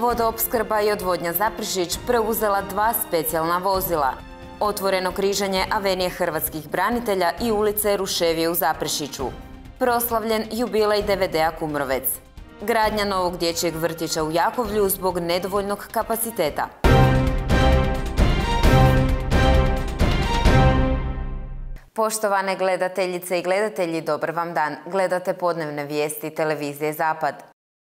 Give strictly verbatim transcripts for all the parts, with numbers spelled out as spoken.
Vodoopskrba i odvodnja Zaprešić preuzela dva specijalna vozila. Otvoreno križanje avenije hrvatskih branitelja i ulice Ruševije u Zaprešiću. Proslavljen jubilej D V D-a Kumrovec. Gradnja novog dječjeg vrtića u Jakovlju zbog nedovoljnog kapaciteta. Poštovane gledateljice i gledatelji, dobar vam dan. Gledate podnevne vijesti televizije Zapad.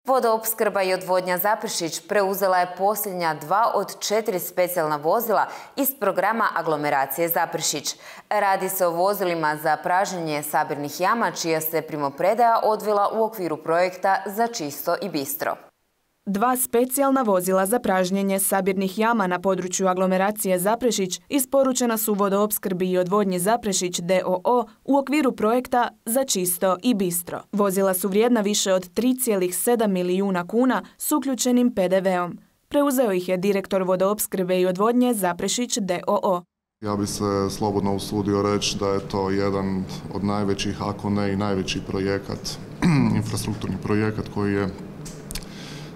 Vodoopskrba i odvodnja Zaprešić preuzela je posljednja dva od četiri specijalna vozila iz programa aglomeracije Zaprešić. Radi se o vozilima za pražnjenje sabirnih jama, čija se primopredaja odvila u okviru projekta Za čisto i bistro. Dva specijalna vozila za pražnjenje sabirnih jama na području aglomeracije Zaprešić isporučena su Vodoopskrbi i odvodnji Zaprešić d o o u okviru projekta Za čisto i bistro. Vozila su vrijedna više od tri zarez sedam milijuna kuna s uključenim pe de veom. Preuzeo ih je direktor Vodoopskrbe i odvodnje Zaprešić d o o. Ja bi se slobodno usudio reći da je to jedan od najvećih, ako ne i najveći projekat, infrastrukturni projekat koji je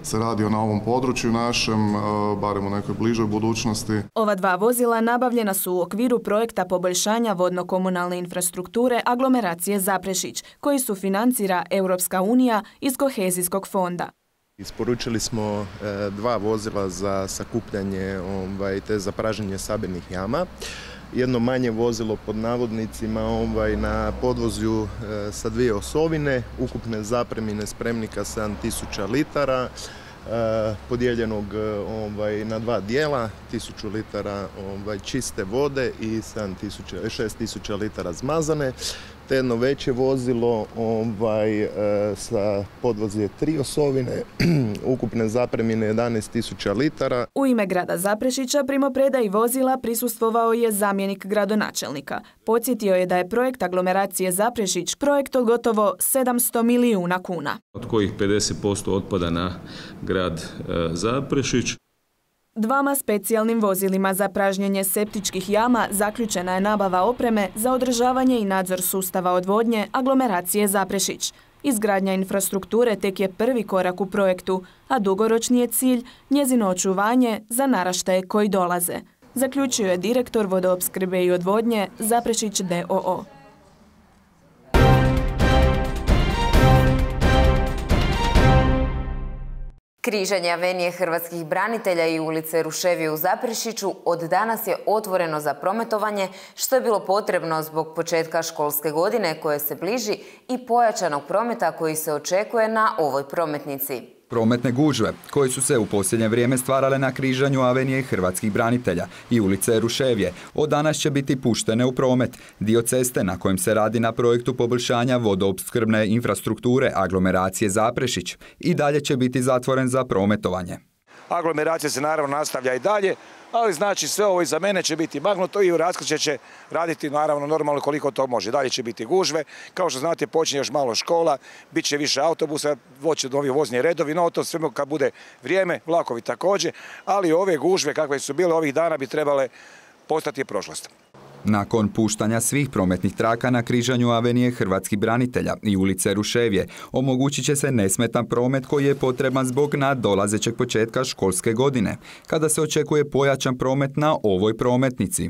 se radio na ovom području našem, barem u nekoj bližoj budućnosti. Ova dva vozila nabavljena su u okviru projekta poboljšanja vodno-komunalne infrastrukture aglomeracije Zaprešić, koji sufinancira Europska unija iz kohezijskog fonda. Isporučili smo dva vozila za sakupljanje ovaj, te za praženje sabirnih jama. Jedno manje vozilo pod navodnicima ovaj, na podvozju e, sa dvije osovine, ukupne zapremine spremnika sedam tisuća litara, e, podijeljenog ovaj, na dva dijela, tisuću litara ovaj, čiste vode i šest tisuća litara zmazane. Te jedno veće vozilo ovaj, e, sa podvozje tri osovine, ukupne zapremine jedanaest tisuća litara. U ime grada Zaprešića primopredaji vozila prisustvovao je zamjenik gradonačelnika. Podsjetio je da je projekt aglomeracije Zaprešić projekt od gotovo sedamsto milijuna kuna. Od kojih pedeset posto otpada na grad e, Zaprešić. Dvama specijalnim vozilima za pražnjenje septičkih jama zaključena je nabava opreme za održavanje i nadzor sustava odvodnje aglomeracije Zaprešić. Izgradnja infrastrukture tek je prvi korak u projektu, a dugoročni je cilj njezino očuvanje za naraštaje koji dolaze, zaključio je direktor Vodoopskrbe i odvodnje Zaprešić d o o. Križanje avenije hrvatskih branitelja i ulice Ruševije u Zaprešiću od danas je otvoreno za prometovanje, što je bilo potrebno zbog početka školske godine koje se bliži i pojačanog prometa koji se očekuje na ovoj prometnici. Prometne gužve, koje su se u posljednje vrijeme stvarale na križanju avenije hrvatskih branitelja i ulice Ruševije, od danas će biti puštene u promet. Dio ceste na kojem se radi na projektu poboljšanja vodoopskrbne infrastrukture aglomeracije Zaprešić i dalje će biti zatvoren za prometovanje. Aglomeracija se naravno nastavlja i dalje, ali znači sve ovo iza mene će biti magnuto i u raskršće će raditi naravno normalno koliko to može. Dalje će biti gužve, kao što znate počinje još malo škola, bit će više autobusa, voće novi vozni redovi, no to sve kad bude vrijeme, vlakovi također, ali ove gužve kakve su bile ovih dana bi trebale postati prošlost. Nakon puštanja svih prometnih traka na križanju avenije hrvatskih branitelja i ulice Ruševije, omogućit će se nesmetan promet koji je potreban zbog nadolazećeg početka školske godine, kada se očekuje pojačan promet na ovoj prometnici.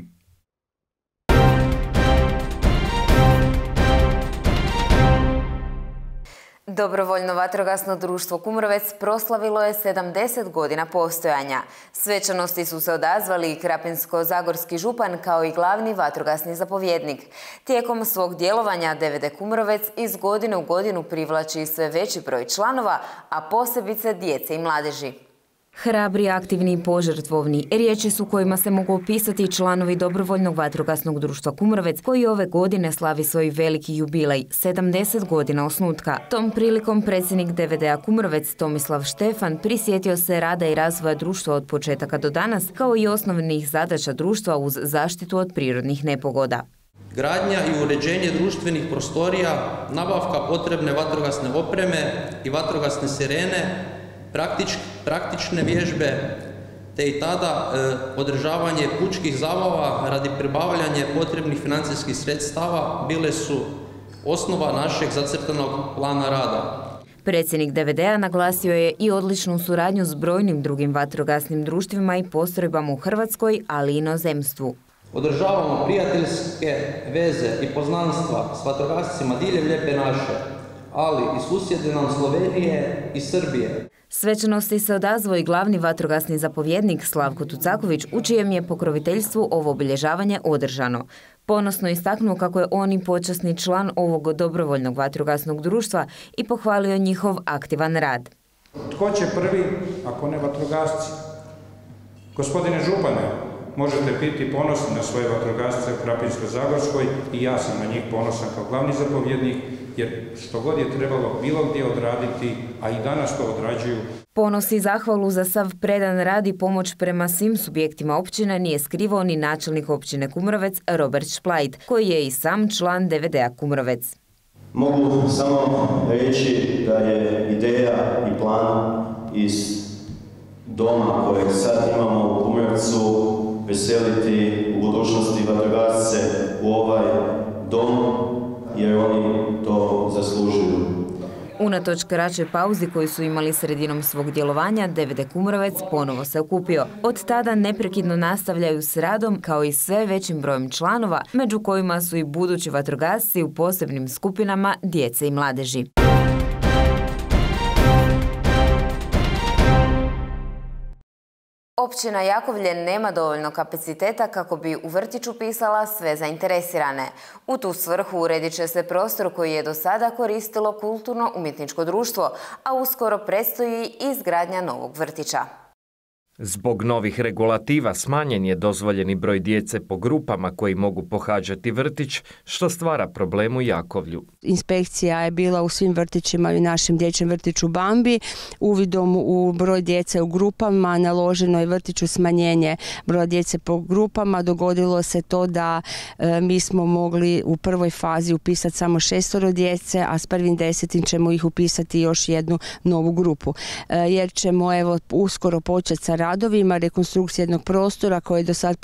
Dobrovoljno vatrogasno društvo Kumrovec proslavilo je sedamdeset godina postojanja. Svečanosti su se odazvali i krapinsko-zagorski župan kao i glavni vatrogasni zapovjednik. Tijekom svog djelovanja D V D Kumrovec iz godine u godinu privlači sve veći broj članova, a posebice djece i mladeži. Hrabri, aktivni i požrtvovni, riječi su kojima se mogu opisati članovi Dobrovoljnog vatrogasnog društva Kumrovec, koji ove godine slavi svoj veliki jubilej, sedamdeset godina osnutka. Tom prilikom predsjednik D V D-a Kumrovec Tomislav Štefan prisjetio se rada i razvoja društva od početaka do danas, kao i osnovnih zadaća društva uz zaštitu od prirodnih nepogoda. Gradnja i uređenje društvenih prostorija, nabavka potrebne vatrogasne opreme i vatrogasne sirene, Praktič, praktične vježbe, te i tada e, održavanje pučkih zabava radi pribavljanja potrebnih financijskih sredstava bile su osnova našeg zacrtanog plana rada. Predsjednik D V D-a naglasio je i odličnu suradnju s brojnim drugim vatrogasnim društvima i postrojbama u Hrvatskoj, ali i inozemstvu. Održavamo prijateljske veze i poznanstva s vatrogascima diljem Lijepe naše, ali i susjede nam Slovenije i Srbije. Svečanosti se odazvao i glavni vatrogasni zapovjednik Slavko Tucaković, u čijem je pokroviteljstvu ovo obilježavanje održano. Ponosno istaknuo kako je on i počasni član ovog dobrovoljnog vatrogasnog društva i pohvalio njihov aktivan rad. Tko će prvi, ako ne vatrogasci? Gospodine župane, možete biti ponosni na svoje vatrogasce u Krapinsko-Zagorskoj i ja sam na njih ponosan kao glavni zapovjednik, jer što god je trebalo bilo gdje odraditi, a i danas to odrađuju. Ponos i zahvalu za sav predan rad i pomoć prema svim subjektima općine nije skrivao ni načelnik općine Kumrovec Robert Šplajt, koji je i sam član D V D-a Kumrovec. Mogu samo reći da je ideja i plan iz doma kojeg sad imamo u Kumrovcu veseliti u budućnosti vatrogasce u ovaj dom, jer oni to zaslužuju. Unatoč kraćoj pauzi koju su imali sredinom svog djelovanja, D V D Kumrovec ponovo se okupio. Od tada neprekidno nastavljaju s radom kao i sve većim brojem članova, među kojima su i budući vatrogasci u posebnim skupinama djece i mladeži. Općina Jakovlje nema dovoljno kapaciteta kako bi u vrtiću upisala sve zainteresirane. U tu svrhu uredit će se prostor koji je do sada koristilo kulturno-umjetničko društvo, a uskoro predstoji izgradnja novog vrtića. Zbog novih regulativa smanjen je dozvoljeni broj djece po grupama koji mogu pohađati vrtić, što stvara problem u Jakovlju. Inspekcija je bila u svim vrtićima i u našem dječjem vrtiću Bambi. Uvidom u broj djece u grupama naloženo je vrtiću smanjenje broja djece po grupama. Dogodilo se to da e, mi smo mogli u prvoj fazi upisati samo šestoro djece, a s prvim desetim ćemo ih upisati još jednu novu grupu. E, jer ćemo evo uskoro početi sa radovima rekonstrukcije jednog prostora koji je do sad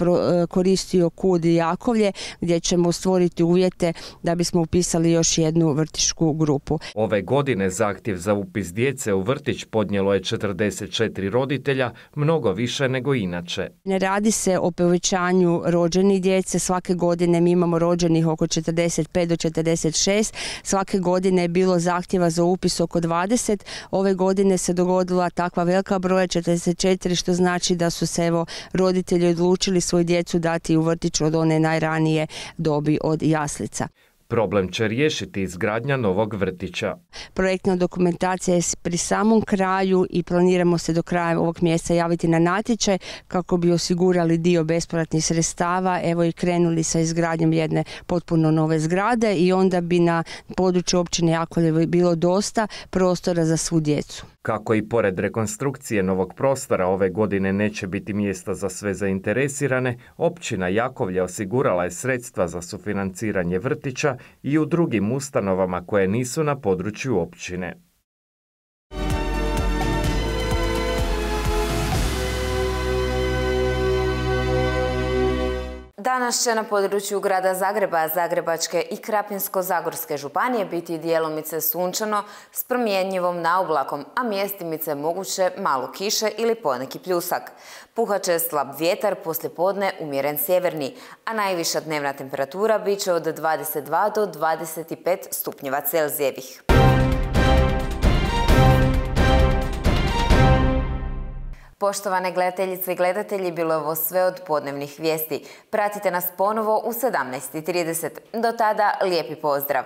koristio KUD i Jakovlje, gdje ćemo stvoriti uvjete da bismo upisali još jednu vrtićku grupu. Ove godine zahtjev za upis djece u vrtić podnijelo je četrdeset četiri roditelja, mnogo više nego inače. Ne radi se o povećanju rođenih djece, svake godine mi imamo rođenih oko četrdeset pet do četrdeset šest, svake godine je bilo zahtjeva za upis oko dvadeset, ove godine se dogodila takva velika broja četrdeset četiri, što znači da su se evo roditelji odlučili svoju djecu dati u vrtić od one najranije dobi, od jaslica. Problem će riješiti izgradnja novog vrtića. Projektna dokumentacija je pri samom kraju i planiramo se do kraja ovog mjeseca javiti na natječaj kako bi osigurali dio bespovratnih sredstava, evo i krenuli sa izgradnjom jedne potpuno nove zgrade i onda bi na području općine Jakovlje bilo dosta prostora za svu djecu. Kako i pored rekonstrukcije novog prostora ove godine neće biti mjesta za sve zainteresirane, općina Jakovlje osigurala je sredstva za sufinanciranje vrtića i u drugim ustanovama koje nisu na području općine. Danas će na području grada Zagreba, Zagrebačke i Krapinsko-zagorske županije biti dijelomice sunčano s promjenjivom naoblakom, a mjestimice moguće malo kiše ili poneki pljusak. Puhaće slab vjetar, poslijepodne umjeren sjeverni, a najviša dnevna temperatura bit će od dvadeset dva do dvadeset pet stupnjeva Celzijevih. Poštovane gledateljice i gledatelji, bilo je ovo sve od podnevnih vijesti. Pratite nas ponovo u sedamnaest i trideset. Do tada, lijepi pozdrav!